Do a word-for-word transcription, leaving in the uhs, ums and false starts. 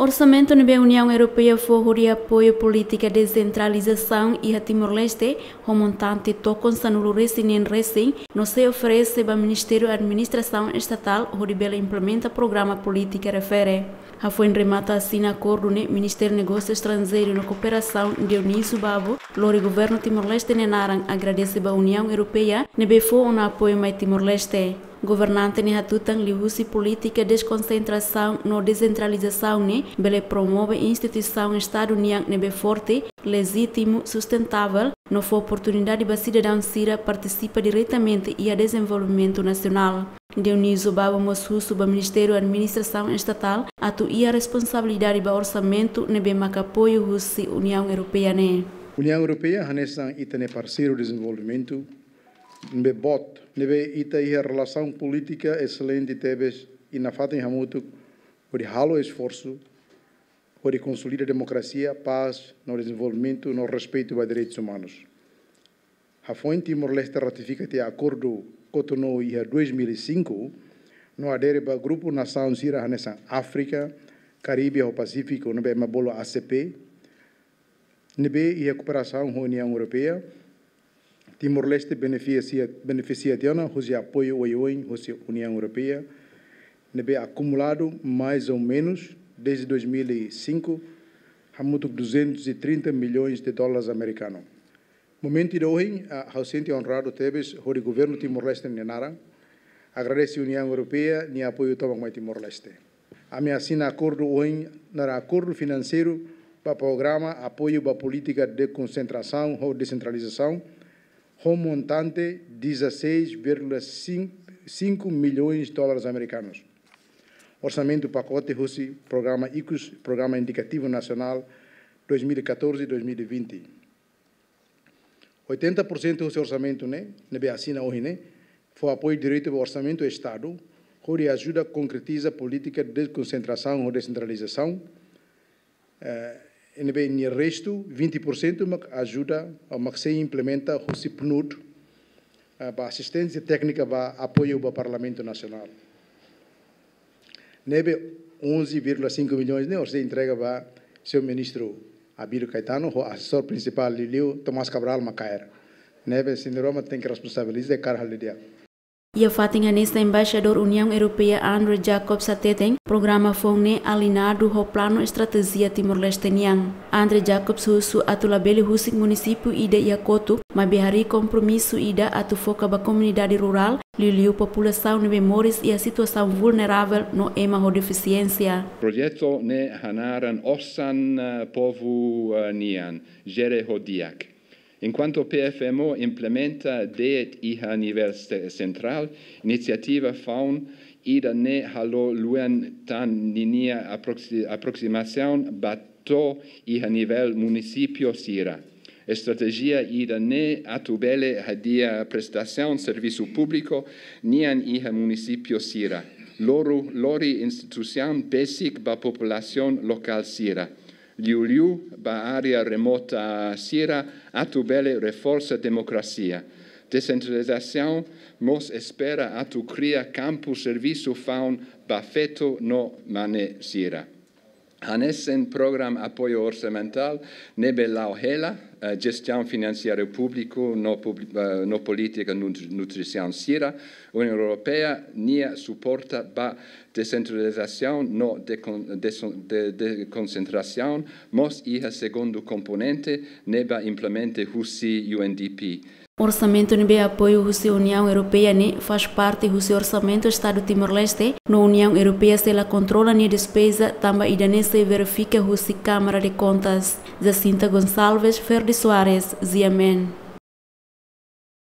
Orsamentu ne'ebé Uniaun Europeia fó hodi apoiu polítika desentralizasaun iha Timor-Leste, ho montante tokon sanulu-resin-neen resin, no sei oferese ba Ministériu Administrasaun Estatál hodi bele implementa programa polítika refere. Hafoin remata asina akordu ne'e, Ministru Negósiu Estranjeiru no Kooperasaun, Dionísio Babo, lori Governu Timor-Leste nia naran agradese ba Uniaun Europeia ne'ebé fó ona apoiu mai Timor-Leste. Governante ne'e hatutan, liuhusi polítika deskonsentrasaun no desentralizasaun ne'e bele promove instituisaun Estadu nian ne'ebé forte, lejítimu, sustentável, no fó oportunidade ba sidadaun sira partisipa diretamente iha dezenvolvimentu nasionál. Dionísio Babo mós husu ba Ministériu Administrasaun Estatál atu iha responsabilidade ba orsamentu ne'ebé maka apoiu husi Uniaun Europeia ne'e. Uniaun Europeia hanesan ita-nia parseiru dezenvolvimentu ne'ebé boot, ne'ebé ita iha relasaun polítika eselente tebes, i nafatin hamutuk hodi halo esforsu hodi konsolida demokrasia, pás no dezenvolvimentu no respeitu ba direitus umanus. Hafoin Timor-Leste ratifika tiha Akordu Cotonou iha dois mil e cinco, no adere ba grupu nasaun sira hanesan Áfrika, Karibe ho Pasífiku, ne'ebé ema bolu A C P, ne'ebé iha kooperasaun ho Uniaun Europeia, Timor-Leste benefisia, benefisia tiha ona husi apoiu oioin husi Uniaun Europeia, ne'ebé akumuladu mais ou menus desde dois mil e cinco, hamutuk duzentos e trinta milhões de dólares americanos. Momentu ida ohin, ah, ha'u sente onradu tebes hodi Governu Timor-Leste nia naran agradese Uniaun Europeia nia apoiu tomak mai Timor-Leste. Ami asina akordu ohin, naran Akordu Finanseiru ba Programa Apoiu ba Polítika de Konsentrasaun ho Desentralizasaun, ho montante dezasseis vírgula cinco milhões de dólares americanos. Orsamentu pakote husi Programa ICUS, Programa Indikativu Nasionál dois mil e catorze, dois mil e vinte. Oitenta por cento husi orsamentu ne'e, ne'ebé asina ohin ne'e, fó apoiu diretu ba orsamentu Estadu, hodi ajuda konkretiza polítika de konsentrasaun ho desentralizasaun. Eh, i ne'ebé nia restu, vinte por cento, mak ajuda, ou mak sei implementa husi PNUD, eh, ba asisténsia téknika ba apoiu ba Parlamentu Nasionál. Ne'ebé onze vírgula cinco milhões ne'e, orsida entrega ba señór Ministru Abílio Caetano, ho asesór prinsipál liuliu Tomás Cabral Macaer. Ne'ebé, sente roma tenke responsabiliza karik halo di'ak. Iha fatin hanesan, Embaixadór Uniaun Europeia Andrew Jacobs hateten, programa foun ne'e aliñadu ho planu estratéjia Timor-Leste nian. Andrew Jacobs husu atu labele husik munisípiu ida iha kotuk, maibé harii kompromisu ida atu foka ba komunidade rurál, liuliu populasaun ne'ebé moris iha situasaun vulneravel no ema ho defisiénsia. Projetu ne'e hanaran Osan, eh, Povu, eh, Nian, Jere ho Di'ak. Enkuantu PFMO implementa de'it iha nivel se-, sentrál, inisiativa foun ida-ne'e halo luan tan ninia aproxi-, aproximasaun ba to'o iha nivel munisípiu sira. Estratéjia ida-ne'e atu bele hadi'a prestasaun servisu públiku nian iha munisípiu sira. Lori, lori instituisaun besik ba populasaun lokál sira, liuliu ba área remota sira, atu bele reforsa demokrasia. Desentralizasaun mós espera atu kria kampu servisu foun ba feto no mane sira. Hanesan programa apoiu orsamentál ne'ebé la'o hela, eh, jestaun finanseira públiku no publi-, eh, no polítika nut-, nutrisaun sira, Uniaun Europeia nia suporta ba desentralizasaun no dekon-, deson-, de-, dekonsentrasaun, mós iha segundu komponente ne'ebé implementa husi U N D P. Orsamentu ne'ebé apoiu husi Uniaun Europeia ne'e faz parte husi orsamentu Estadu Timor-Leste, no Uniaun Europeia sei la kontrola nia despeza, tanba ida-ne'e sei verifika husi Câmara de Contas. Jacinta Gonçalves, Ferdi Soares, G M N.